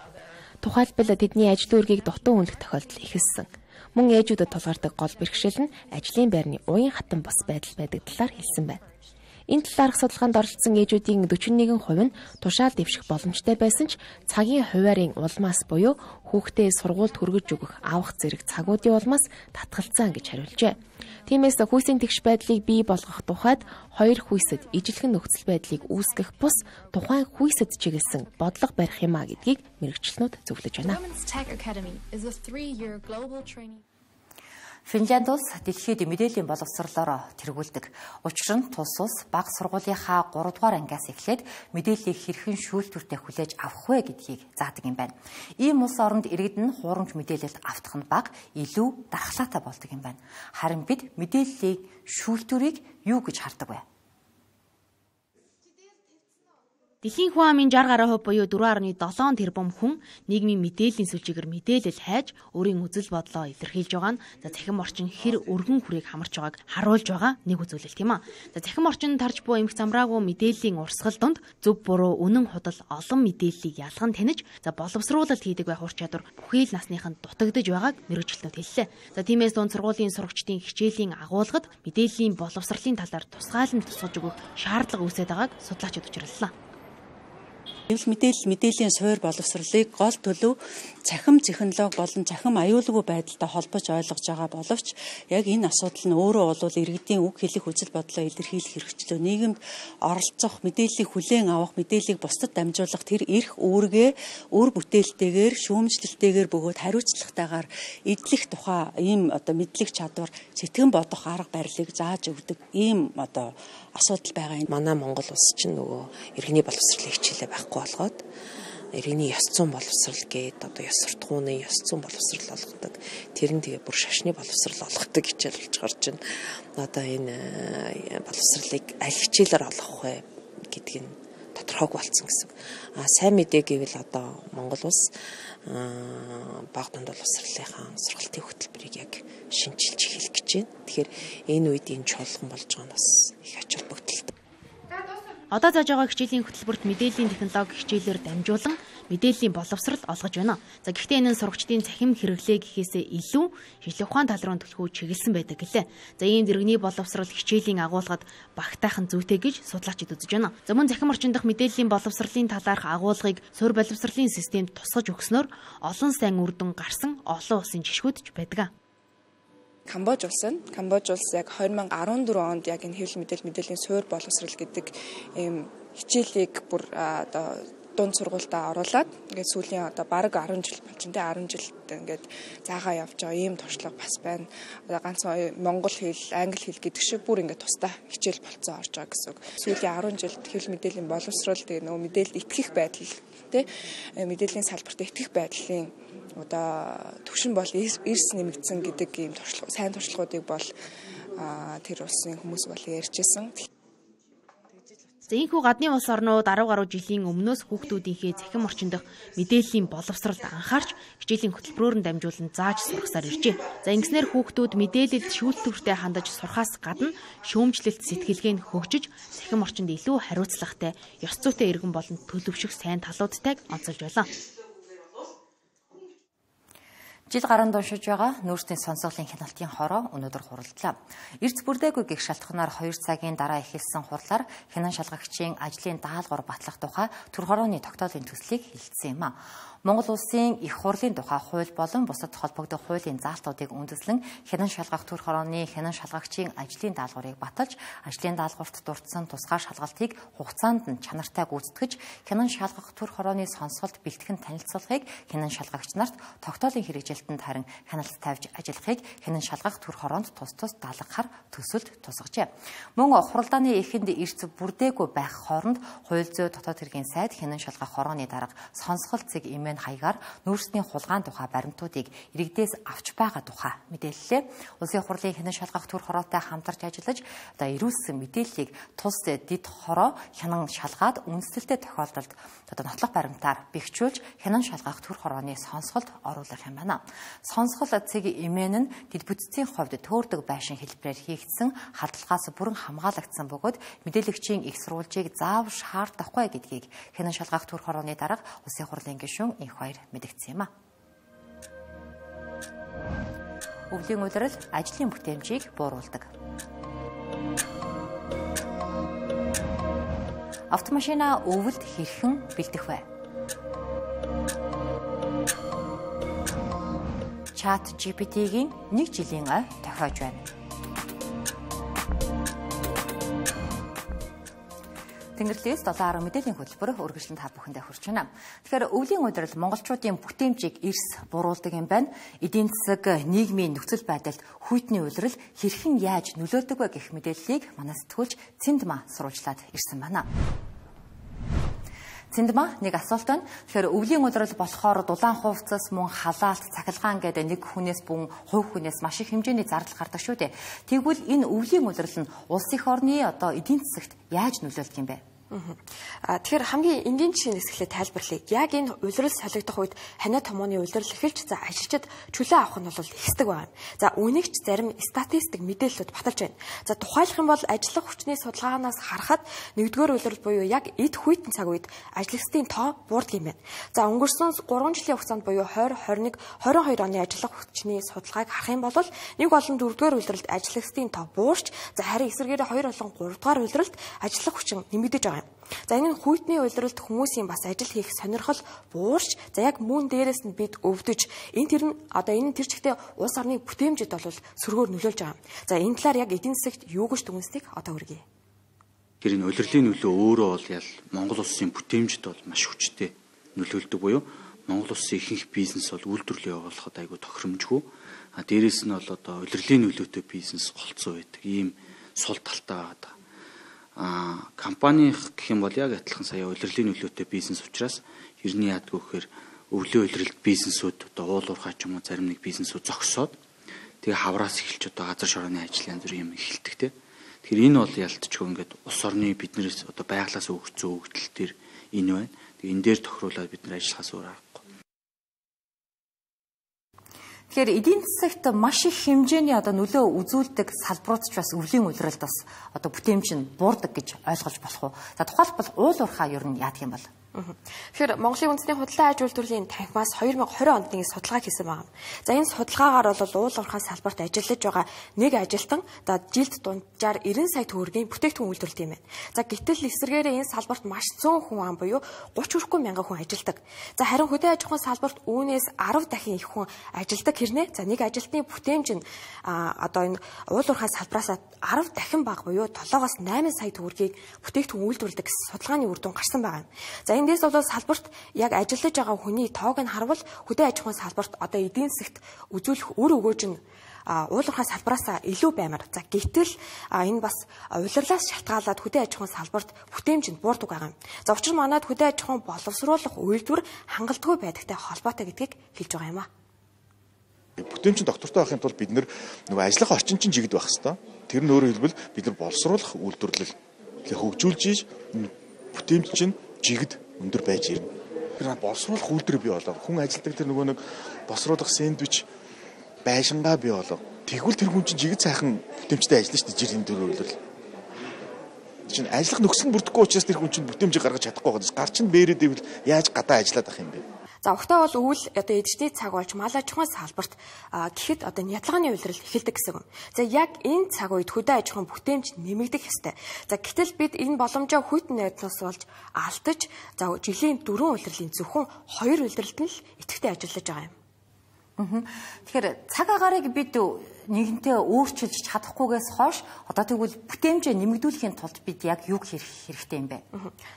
Тухайлбал тэдний ажил үүргийг дутуу үнэлэх тохиолдол ихэлсэн. Мөн ээжүүдэд тулгардаг гол бэрхшээл нь ажлын байрны уян хатан бос байдал байдаг талаар хэлсэн байна. Энэ талаарх судалгаанд оролцсон ээжүүдийн дөрвөн нэгэн хувь нь тушаал дэвших боломжтой байсан ч цагийн хуваарийн улмаас буюу хүүхдээ сургуульд хүргэж өгөх авах зэрэг цагуудын улмаас татгалцсан гэж хариулжээ. Тиймээс хүйсийн тэгш байдлыг бий болгох тухайд хоёр хүйсэд ижилхэн нөхцөл байдлыг үүсгэх бус тухайн хүйсэд чиглэсэн бодлого барих юмаа гэдгийг мэрэгчлэнүүд зөвлөж байна. Финлянд улс дэлхийд мэдээллийн боловсролоор тэргүүлдэг. Учир нь тус улс бага сургуулийнхаа гурав дугаар ангиас эхлээд мэдээллийг хэрхэн шүүлтүүртэй хүлээж авах вэ гэдгийг заадаг юм байна. Ийм улс оронд иргэд нь хуурамч мэдээлэлд автах нь бага, илүү дархлаатай болдог юм байна. Харин бид мэдээллийг шүүлтүүрийг юу гэж хардаг вэ? Дэлхийн хүн амын шестьдесят гаруй хувь буюу four point seven тэрбум хүн нийгмийн мэдээллийн сүлжээгээр мэдээлэл хайж өөрийн үзэл бодлоо илэрхийлж байгаа нь за цахим орчин хэр өргөн хүрээг хамарч байгааг харуулж байгаа нэг үзүүлэлт юм а. За цахим орчин тарж буй эмх замраагүй мэдээллийн урсгал донд зөв буруу үнэн худал олон мэдээллийг ялган таних за боловсруулалт хийдэг байх ур чадвар бүхий л насныханд дутагдж байгааг мэрэгчлэнүүд хэллээ. За тиймээс дунд сургуулийн сурагчдын хичээлийн агуулгад мэдээллийн боловсролын талаар тусгайлан тусгаж өгөх шаардлага үүсэж байгааг судлаачид учрууллаа. Эвл мэдээлэл мэдээллийн суур боловсролыг гол төлөв цахим технологи болон цахим аюулгүй байдалтай холбож ойлгож байгаа боловч яг энэ асуудал нь өөрөө бол иргэдийн үг хэлэх үзэл бодлоо илэрхийлэх хэрэгчлөө нийгэмд оролцох мэдээллийг хүлээн авах мэдээллийг бусдад дамжуулах тэр эрх үүргээ үр бүтээлтэйгээр шүүмжлэлтэйгээр бөгөөд хариуцлагатайгаар эдлэх тухай ийм одоо мэдлэг чадвар сэтгэн бодох арга барилыг зааж өгдөг ийм одоо асуудал байгаа юм. Манай Монгол улс чинь нөгөө иргэний боловсролын хичээлээ байхгүй болгоод иргэний ёс зүйн боловсрал гээд одоо ёс суртахууны ёс зүйн боловсрал олгодог. Тэр нь тэгээ бүр шашны боловсрал олгодог хичээл болж гарч байна. Одоо энэ боловсралыг аль хичээлээр олгох вэ гэдг нь тодорхойг болсон гэсэн. А сайн мэдээ гэвэл одоо Монгол улс баг дунд боловсролынхаа сургалтын хөтөлбөрийг яг шинжилж эхэлэх гэж байна. Тэгэхээр энэ үед энэ чуулган болж байгаа нь бас их ач холбогдолтой. Одоо зааж байгаа хичээлийн хөтөлбөрт мэдээллийн технологи хичээлээр дамжуулан мэдээллийн боловсрол олгож байна. За гэхдээ энэ нь сурагчдын цахим хэрэглээ гэхээсээ илүү шинжлэх ухааны тал руу төлхөө чиглэсэн байдаг гэлээ. За ийм дэргэний боловсрол хичээлийн агуулгад багтайхан зүйтэй гэж судлаачид үзэж байна. За мөн цахим орчин дахь мэдээллийн боловсролын талаарх агуулгыг суурь боловсролын системд тусгаж өгснөөр олон сайн үр дүн гарсан олон улсын жишгүүдж байдаг. Камбож улс нь Камбож улс яг two thousand fourteen онд яг энэ хэвлэл мэдээлэл мэдээллийн суурь боловсрол гэдэг ийм хичээлийг бүр одоо дунд сургуультаа оруулаад ингээд сүүлийн одоо бараг ten жил болж байна. ten жилд ингээд заагаа явж байгаа ийм туршлага бас байна. Одоо ганцхан монгол хэл, англи хэл гэдэг шиг бүр ингээд тусдаа хичээл болцсон орж байгаа гэсэн үг. Сүүлийн ten жилд хэвлэл мэдээллийн боловсрол тэгээ нөгөө мэдээлэл итгэх байдал тий мэдээллийн салбарт итгэх байдлын одоо төвшин бол эрс нэмэгдсэн гэдэг ийм туршлага сайн туршлагуудыг бол тэр улсын хүмүүс бол ярьжсэн. За ийхүү гадны улс орнууд ten гаруй жилийн өмнөөс хүүхдүүдийнхээ цахим орчин дахь мэдээллийн боловсролд анхаарч хичээлийн хөтөлбөрөөр нь дамжуулан зааж сургасаар иржээ. За ингэснээр хүүхдүүд мэдээлэлд шүүлтүүртэй хандаж сурахаас гадна шүүмжлэлт сэтгэлгээ нь хөгжиж цахим орчинд илүү хариуцлагатай, ёс зүйтэй иргэн болон төлөвшөх сайн талуудтайг онцолж байлаа. Жил гаранд уншиж байгаа нүүрсний сонсголын хяналтын хороо өнөөдөр хуралдлаа. Эрц бүрдээгүй гэх шалтгаанаар хоёр цагийн дараа эхэлсэн хурлаар хянан шалгагчийн ажлын даалгавар батлах тухай төр хорооны тогтоолын төслийг хэлсэн юм а. Монгол улсын их хурлын тухай хууль болон бусад холбогдох хуулийн заалтуудыг үндэслэн хянан шалгах төр хорооны хянан шалгагчийн ажлын даалгаврыг баталж, ажлын даалгаварт дурдсан тусгай шалгалтыг хугацаанд нь чанартай гүйцэтгэж, хянан шалгах төр хорооны сонсголт бэлтгэн танилцуулахыг хянан шалгагч нарт тогтоолын хэрэгжилтэнд харин хяналт тавьж ажиллахыг хянан шалгах төр хороонд тус тус даалгахаар төсөлд тусгажээ. Мөн хуралдааны эхэнд эрц бүрдээгүй байх хооронд хууль зүйн дотоод хэргийн сайд хянан шалгах хорооны дарга сонсголт зэг эмээн хаягаар нүүрсний хулгаан тухай баримтуудыг иргэдээс авч байгаа тухай мэдээллээ. Улсын хурлын хянан шалгах төр хороотой хамтарч ажиллаж одоо ирүүлсэн мэдээллийг тус дэд хороо хянан шалгаад үндэслэлтэй тохиолдолд одоо нотлох баримтаар бэхжүүлж хянан шалгах төр хорооны сонсголт оруулах юм байна. Сонсгол цэг эмээн нь дэд бүтцийн хувьд төөрдөг байшин хэлбэрээр хийгдсэн халдлагаас бүрэн хамгаалагдсан бөгөөд мэдээлэгчийн их сурвалжийг заав шаардахгүй гэдгийг хянан шалгах төр хорооны дарга улсын хурлын гишүүн инх баяр мэдгдсэн юм а. Өвлийн улирал ажлын бүтээмжийг бууруулдаг. Автомашина өвөлд хэрхэн бэлдэх вэ? Чат джи пи ти-гийн нэг жилийн ой тохиож байна. Тэнгэрлэгээс seven ten мэдээллийн хөтөлбөр үргэлжлэн та бүхэндээ хүрч байна. Тэгэхээр өвлийн удирдал монголчуудын бүтээмжийг эрс буруулдаг юм байна. Эдийн засаг, нийгмийн нөхцөл байдалд хүйтний улирал хэрхэн яаж нөлөөлдөг вэ гэх мэдээллийг манай сэтгүүлч Цэндма сурвалжлаад ирсэн байна. Цэндма нэг асуулт байна. Тэгэхээр өвлийн удирдал болохоор дулаан хувцас, мөн халаалт, цахилгаан гэдэг нэг хүнээс бүн хувь хүнээс маш их хэмжээний зардал гардаг шүү дээ. Тэгвэл энэ өвлийн удирдал нь улс их орны одоо эдийн засагт яаж нөлөөлдөг юм бэ? Тэгэхээр хамгийн энгийн жишээ нэсгэлээ тайлбарлая. Яг энэ улирал солигдох үед ханиа томооны улирал эхэлж за ажилчид чөлөө авах нь бол ихсдэг байна. За үүнийг ч зарим статистик мэдээллүүд баталж байна. За тухайлах юм бол ажиллах хүчний судалгаанаас харахад нэгдүгээр улирал буюу яг эд хүйтэн цаг үед ажлагчдын тоо буурдаг юм байна. За өнгөрсөн гурван жилийн хугацаанд буюу двадцать двадцать один двадцать хоёр оны ажиллах хүчний судалгааг харах юм бол нэг болон дөрөвдүгээр улиралд ажлагчдын тоо буурч за харин эсвэргээрээ хоёр болон гуравдугаар улиралд ажиллах хүчин нэмэгдэж байгаа юм. За энэ нь хүйтний улиралд хүмүүсийн бас ажил хийх сонирхол буурч за яг мөн дээрээс нь бид өвдөж энэ тэр нь одоо энэ тэр чигтээ улс орны бүтээмжид бол сөргөөр нөлөөлж байгаа. За энэ талаар яг эдийн засагт юу гэж дүгнэснийг одоо хүргэе. Тэр энэ улирлын нөлөө өөрөө бол ял Монгол улсын бүтээмжид бол маш хүчтэй нөлөөлдөг буюу Монгол улсын ихэнх бизнес бол үйлдвэрлэлээ явуулахад айгүй тохиромжгүй. А дээрээс нь бол одоо улирлын нөлөөтэй бизнес голцоо байдаг. Ийм сул талтай байгаа. А компани гэх юм бол яг адилхан сая улирлын нөлөөтэй бизнес учраас ерний яадгүй гэхээр өвлөө улиралд бизнесүүд одоо уул уурхай ч юм уу зарим нэг бизнесүүд зогсоод тэгээ хавраас эхэлж одоо газар шорооны ажил янз бүр юм эхэлдэг те. Тэгэхээр энэ бол ялтчгүй ингээд улс орны биднээс одоо байглаас өгсөн өгдөл төр энэ байна. Тэгээ энэ дээр тохируулаад бид нар ажиллахаас өөр аргагүй. Тэгэхээр эдийн засагт маш их хэмжээний одоо нөлөө үзүүлдэг салбарууд ч бас өвлийн улиралд бас одоо бүтээмж нь буурдаг гэж ойлгож болох уу? За тухайлбал уул уурхай ер нь яадаг юм бол? Тэгэхээр Монголын үндэсний худлаа аж үйлдвэрлэлийн танхимаас две тысячи двадцать онд судалгаа хийсэн байна. За энэ судалгаагаар бол уул уурхай салбарт ажиллаж байгаа нэг ажилтан одоо жилд дунджаар нব্бай сая төгрөгийн бүтээгдэхүүн үйлдвэрлэдэг юм байна. За гэтэл эсвэргээрээ энэ салбарт маш зөөн хүн ам буюу гуч хүрэхгүй мянган хүн ажилладаг. За харин хөдөө аж ахуйн салбарт үүнээс десять дахин их хүн ажилладаг хэрнээ. За нэг ажилтны бүтээмж нь одоо энэ уул уурхай салбараас десять дахин бага буюу семиос восемь сая төгрөгийг бүтээгдэхүүн үйлдвэрлэдэг судалгааны үр дүн гарсан байна. За эндээс бол салбарт яг ажиллаж байгаа хүний тоог нь харвал хөдөө аж ахуйн салбарт одоо эдийн засагт үзүүлэх үр өгөөж нь уул уурхай салбараас илүү баймар. За гэтэл энэ бас улирлаас шалтгаалаад хөдөө аж ахуйн салбарт бүтээмж нь буурдаг байгаа юм. За учир нь манайд хөдөө аж ахуйн боловсруулах үйлдвэр хангалтгүй байдагтай холбоотой гэдгийг хэлж байгаа юм а. Бүтээмжийн доктортой байхын тулд бид нөгөө ажиллах орчин чинь жигд байх хэвээр. Тэр нь өөрөөр хэлбэл бид нар боловсруулах үйлдвэрлэл хөгжүүлж ийж бүтээмж чинь жигд өндөр байж ирнэ. Тэр боловсруулах үйлдвэр бий болоо. Хүн ажилдаг тэр нөгөө нэг боловсруулах сэндвич байшингаа бий болоо. Тэгвэл тэр хүн чинь жигд сайхан бүтээмжтэй ажиллана шүү дээ жирийн төрөөр үйлдвэрлэл. Чинь ажиллах нөхцөл нь бүрдэхгүй учраас тэр хүн чинь бүтээмжийг гаргаж чадахгүй байгаа. Гар чинь бээрээд ивэл яаж гадаа ажиллаад ах юм бэ? За ухтаа бол өвөл одоо эдшний цаг болж мал аж ахуйн салбарт гэхэд одоо ядлагын улирал эхэлдэг гэсэн юм. За яг энэ цаг үед хөдөө аж ахуйн бүтээмж нэмэгдэх ёстой. За гэтэл бид энэ боломжоо хүйтэн найднаас болж алдаж за жилийн дөрвөн улирлын зөвхөн хоёр улиралд нь л идэвхтэй ажиллаж байгаа юм. Тэгэхээр цаг агаарыг бид нэгэнтээ өөрчилж чадахгүйгээс хойш одоо тэгвэл бүтээмжээ нэмэгдүүлэхийн тулд бид яг юу хийх хэрэгтэй юм бэ?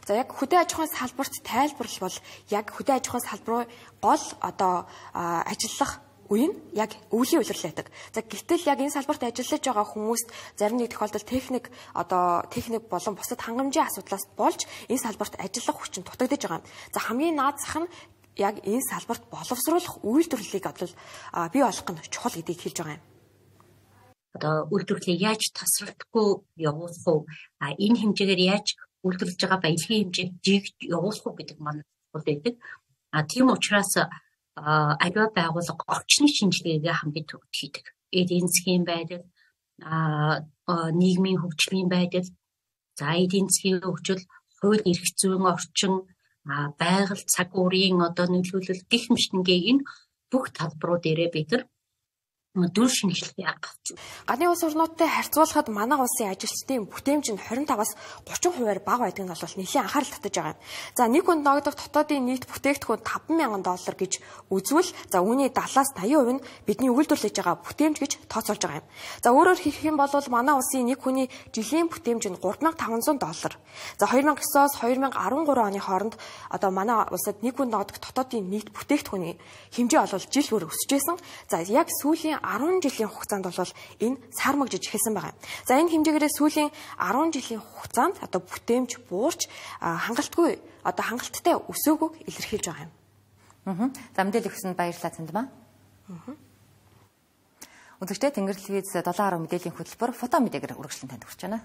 За яг хөдөө аж ахуйн салбарт тайлбарлал бол яг хөдөө аж ахуйн салбарын гол одоо ажиллах үе нь яг өвлийн улирал байдаг. За гэтэл яг энэ салбарт ажиллаж байгаа хүмүүст зарим нэг тохиолдолд техник одоо техник болон бусад хангамжийн асуудлаас болж энэ салбарт ажиллах хүчин дутагдж байгаа юм. За хамгийн наад зах нь яг энэ салбарт боловсруулах үйлдвэрлэлийг одоо бий болгох нь чухал гэдгийг хэлж байгаа юм. Одоо үйлдвэрлэлийг яаж тасралтгүй явуулах уу? А энэ хэмжээгээр яаж үйлдвэрлэж байгаа баялагын хэмжээг жигд явуулах уу гэдэг маань чухал байдаг. А тийм учраас аливаа байгууллага орчны шинжилгээгээ хамгийн түрүүнд хийдэг. Эдийн засгийн байдал, а нийгмийн хөгжлийн байдал, за эдийн засгийн хөгжил, хууль эрх зүйн орчин, а байгаль цаг уурын одоо нөлөөлөл гэх мэтнгийг энэ бүх талбарууд дээрээ бид нар дүр шинжилгээ авч. Гадны улс орнуудтай харьцуулахад манай улсын ажилчдын бүтээмж нь двадцать пять-аас тридцать хувиар бага байдаг нь бол нэлийн анхаарал татаж байгаа юм. За нэг хүнд ногдох дотоодын нийт бүтээгдэхүүн таван мянган доллар гэж үзвэл за үүний дадлаас восемьдесят хувь нь бидний үйлдвэрлэж байгаа бүтээмж гэж тооцоолж байгаа юм. За өөрөөр хэлэх юм бол манай улсын нэг хүний жилийн бүтээмж нь три thousand five hundred доллар. За two thousand nine-оос two thousand thirteen оны хооронд одоо манай улсад нэг хүнд ногдох дотоодын нийт бүтээгдэхүүний хэмжээ бол жил бүр өсөж байсан. За яг сүүлийн ten жилийн хугацаанд бол энэ сармагжиж эхэлсэн байгаа юм. За энэ хэмжээгээрээ сүүлийн ten жилийн хугацаанд одоо бүтээмж буурч хангалтгүй одоо хангалттай өсөөгөөг илэрхийлж байгаа юм. Аа. За мэдээлэл өгсөнд баярлалаа Цандмаа. Аа. Өдөртөө Тэнгэр телевиз seven гаруй мэдээллийн хөтөлбөр фото мэдээгээр үргэлжлэн танд хүрч байна.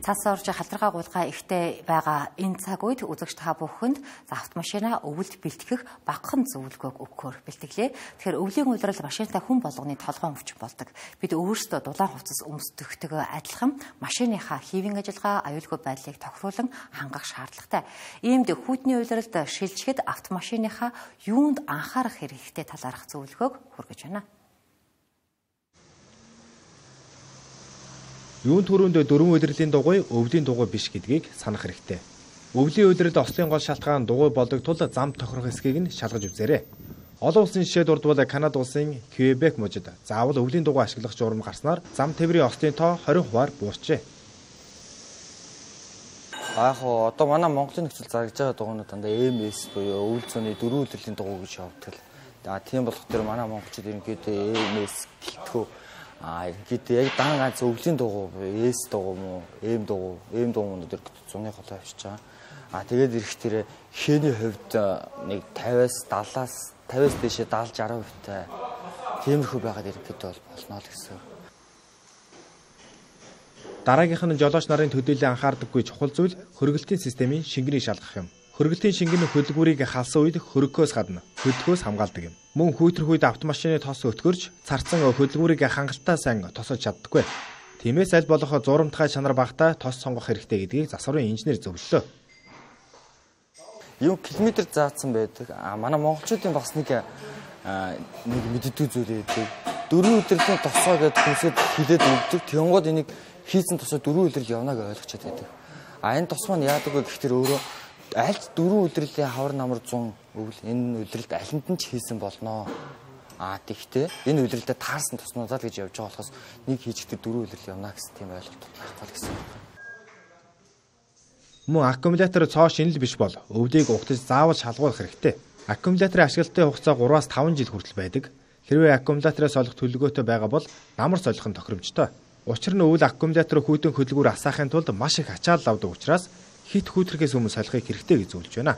Цас орж халдваргаа гуйлгаа ихтэй байгаа энэ цаг үед үзэгч та бүхэнд автомашина өвөлд бэлтгэх багахан зөвлөгөөг өгөхөөр бэлтгэлээ. Тэгэхээр өвлийн улирал машинтай хүн болгоны толгойн өвчин болдог. Бид өөрсдөө дулаан хувцас өмсдөгтэйгээ адилхан машиныхаа хийвийн ажиллагаа, аюулгүй байдлыг тохируулан хангах шаардлагатай. Иймд хүйтний улиралд шилжихэд автомашиныхаа юунд анхаарах хэрэгтэй талаарх зөвлөгөөг хүргэж байна. Юун түрүүнд дөрвөн улирлын дугуй өвлийн дугуй биш гэдгийг санах хэрэгтэй. Өвлийн улиралд ослын гол шалтгаан дугуй болдог тул зам тохирох эсхийг нь шалгаж үзээрэй. Олон улсын жишээ дурдвал Канада улсын Квебек мужид заавал өвлийн дугуй ашиглах журам гарснаар зам тээврийн ослын тоо хорин хувиар буурчээ. Аа хоо одоо манай Монголын нөхцөл зарагдж байгаа дугуйнууд дандаа эм эс буюу өвөл зүүнний дөрвөн улирлын дугуй гэж явагддаг. За тийм болох төр манай монголчууд ерөнхийдөө эм эс гэлтгүү а ерөнхийдөө яг дан ганц өвлийн дугуй буюу эс дугуй мó эм дугуй эм дугуйнууд ерөнхийдөө зуны холоо авчиж байгаа. А тэгээд ирэх тэрэ хээний хувьд нэг тавиас даалаас тавиас дэшээ даалж арав хувьтай тиймэрхүү байгаад ерөнхийдөө бол болно л гэсэн. Дараагийнх нь жолооч нарын төдийлөн анхаардаггүй чухал зүйл хөргөлтийн системийн шингэнийг шалгах юм. Хөргөлтийн шингэн хөдөлгүүрийг халсан үед хөргөхөөс гадна хөдөлгөөс хамгаалдаг юм. Мөн хүйтрэх үед автомашины тос өтгөрч царцсан хөдөлгүүрийг хангалттай сайн тосож чаддаггүй. Тиймээс аль болох зуурамтгай чанар багтаа тос сонгох хэрэгтэй гэдгийг засварын инженер зөвлөлөө. Юу километр заасан байдаг. А манай монголчуудын бас нэг нэг мэддэг зүйл байдаг. Дөрвөн өдрийн тосоо гэдэг хүнсэд хилээд өгдөг. Тэнгууд энийг хийсэн тосоо дөрвөн өдрөл явна гэж ойлгочод байдаг. А энэ тос маань яадаг вэ гэхээр өөрөө аль дөрвөн өдрлийн хавар намар зун өвөл энэ өдрөлд алинд нь ч хийсэн болноо. А тэгтээ энэ өдрөлдөө таарсан тоснуудаа л гэж явж байгаа болохоос нэг хийжигдээ дөрвөн өдрөл явна гэсэн тийм ойлголт байхгүй л гэсэн. Мөн аккумулятор цоо шинэл биш бол өвлийг угтаж заавал шалгуулах хэрэгтэй. Аккумуляторын ашиглалтын хугацаа гураас таван жил хүртэл байдаг. Хэрвээ аккумулятороос олох төлөвлөгөөтэй байгаа бол намар солих нь тохиромжтой. Учир нь өвөл аккумулятор хүйтэн хөдөлгүүр асаахын тулд маш их ачаал авдаг учраас хит хүүтрхээс өмнө солихыг хэрэгтэй гэж зөвлөж байна.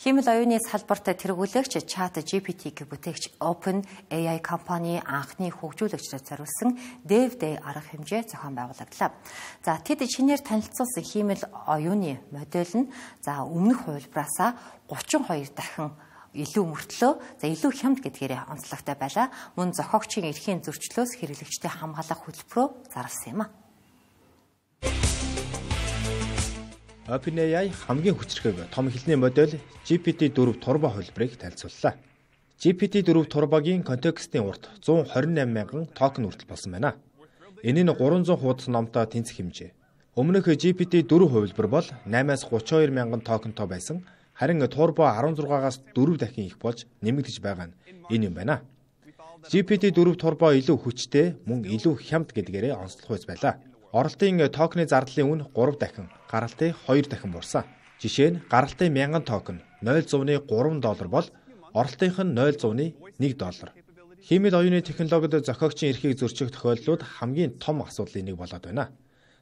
Хэмэл оюуны салбарт тэргүүлэгч чат джи пи ти-г бүтээгч Open эй ай компани анхны хөгжүүлэгчдад зориулсан DevDay арга хэмжээ зохион байгуулагдлаа. За тэд шинээр танилцуулсан хэмэл оюуны модель нь за өмнөх хувилбараасаа гучин хоёр дахин илүү мөртлөө за илүү хямд гэдгээрээ онцлогтой байлаа. Мөн зохиогчийн эрхийн зөрчлөөс хэрэглэгчтэй хамгаалах хөтөлбөрөөр зарласан юм а. OpenAI хамгийн хүчрхэг том хэлний модель джи пи ти дөрвөн Turbo хувилбарыг танилцууллаа. джи пи ти дөрвөн Turbo-гийн контекстийн урт зуун хорин найман мянган токен хүртэл болсон байна. Энэ нь гурван зуун хуудас номтой тэнцэх хэмжээ. Өмнөх джи пи ти дөрвөн хувилбар бол наймаас гуравч хоёр мянган токентой байсан. Харин Turbo арван зургаагаас дөрөв дахин их болж нэмэгдэж байгаа нь энэ юм байна. джи пи ти дөрвөн Turbo илүү хүчтэй, мөн илүү хямд гэдгээрээ онцлох үйс байлаа. Оролтын токены зардлын үн гурав дахин, гаралтын хоёр дахин буурсан. Жишээ нь гаралтын мянган токен ноль зууны гурван доллар бол оролтынх нь ноль зууны нэг доллар. Хэмэл оюуны технологид зохиогчийн эрхийг зөрчих тохиолдлууд хамгийн том асуудлын нэг болоод байна.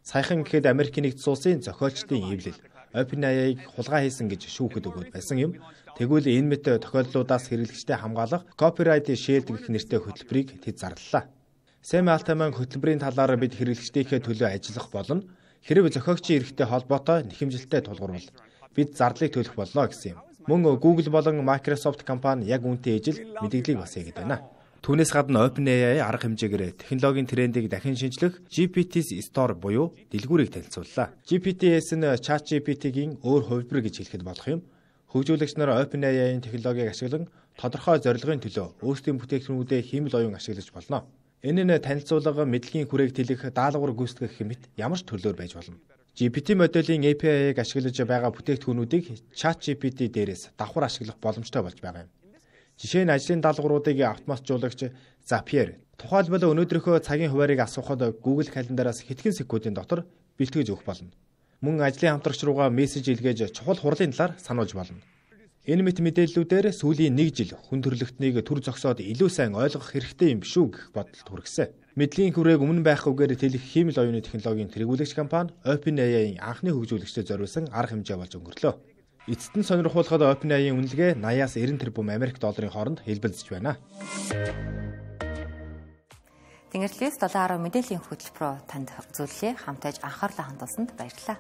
Саяхан гэхэд Америк нэгдсэн улсын зохиолчдын эвлэл OpenAI-г хулгай хийсэн гэж шүүхэд өгөөд байсан юм. Тэгвэл энэ мэт тохиолдлуудаас хэрэглэгчтэй хамгаалах Copyright Shield гэх нэртэй хөтөлбөрийг тэд зарлалаа. Сэм Алтаман хөтөлбөрийн талаар бид хэрэглэгчдийнхээ төлөө ажиллах болно. Хэрэг зохиогчийн эрхтэй холбоотой нэхэмжилттэй тулгуурвал бид зарлыг төлөх боллоо гэсэн юм. Мөн Google болон Microsoft компани яг үүнтэй ижил мэдээллийг бас хийгээд байна. Түүнээс гадна OpenAI арга хэмжээгээр технологийн трендийг дахин шинжлэх джи пи ти Store буюу дэлгүүрийг танилцууллаа. джи пи ти эс нь ChatGPT-гийн өөр хувилбар гэж хэлэхэд болох юм. Хөгжүүлэгч нар OpenAI-ийн технологиг ашиглан тодорхой зорилгын төлөө өөрсдийн бүтээгдэхүүнүүдэд хэмэл оюун ашиглаж болно. Энэ нь танилцуулга, мэдлэгийн хүрээг тэлэх, даалгавар гүйцэтгэх хэмэт ямар ч төрлөөр байж болно. джи пи ти моделийн эй пи ай-г ашиглаж байгаа бүтээгдэхүүнүүдийг ChatGPT дээрээс давхар ашиглах боломжтой болж байгаа юм. Жишээ нь ажлын даалгавруудыг автоматжуулагч Zapier тухайлбал өнөөдрийнхөө цагийн хуваарийг асуухад Google календараас хэдхэн секундын дотор бэлтгэж өгөх болно. Мөн ажлын хамтрагч руугаа мессеж илгээж чухал хурлын талаар сануулж болно. Энэ мэт мэдээллүүдээр сүүлийн нэг жил хүн төрөлхтнийг төр зогсоод илүү сайн ойлгох хэрэгтэй юм биш үү гэх бодолд хүргэсэн. Мэдлэгийн хүрээг өмнө байхгүйгээр тэлэх хэмэл оюуны технологийн тэргүүлэгч компани OpenAI-ийн анхны хөгжүүлэгчдэд зориулсан арга хэмжээ болж өнгөрлөө. Эцэст нь сонирхуулахад OpenAI-ийн үнэлгээ восемнадцать тэрбум Америк долларын хооронд хэлбэлзэж байна. Тэнгэрлэгээс долоон гаруй мэдээллийн хөтөлбөрөөр танд үзүүллээ. Хамтаж анхаарлаа хандуулсанд баярлалаа.